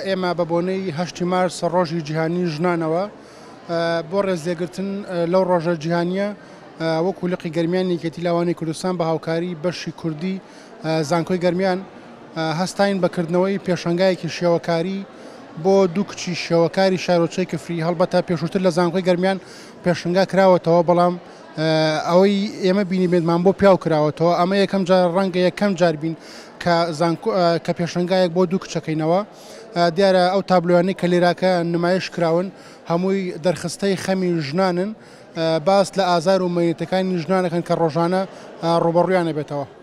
ئێمە بە بۆنەی هەشتی مارس ڕۆژی جیهانی ژنانەوە بۆ ڕێزلێگرتن لەو ڕۆژە جیهانییە وەکو لقی گەرمیان یەکێتی لاوانی کوردستان بە هاوکاری بەشی کوردی زانکۆی گەرمیان هەستاین بە کردنەوەی پێشەنگایەکی شێوەکاری بۆ دوو کچی شێوەکاری شارۆچەی کفری. هەڵبەتە پێشووتر لە زانکۆی گەرمیان پێشنگا کراوەتەوە، بەڵام ئەوەی ئێمە بینیبێتمان بۆ پیاو کراوەتەوە. ئەمە یەکەم جار، ڕەنگە یەکەم جار بین کە زانکۆ کە پێشنگایەک بۆ دوو کچەکەینەوە. دیارە ئەو تابلۆیانەی کە لێراکە نمایش کراون هەمووی دەرخستەی خەمی ژنانن، باس لە ئازار و مەینەتەکانی ژنانەکەن کە ڕۆژانە ڕووبەڕوویان ئەبێتەوە.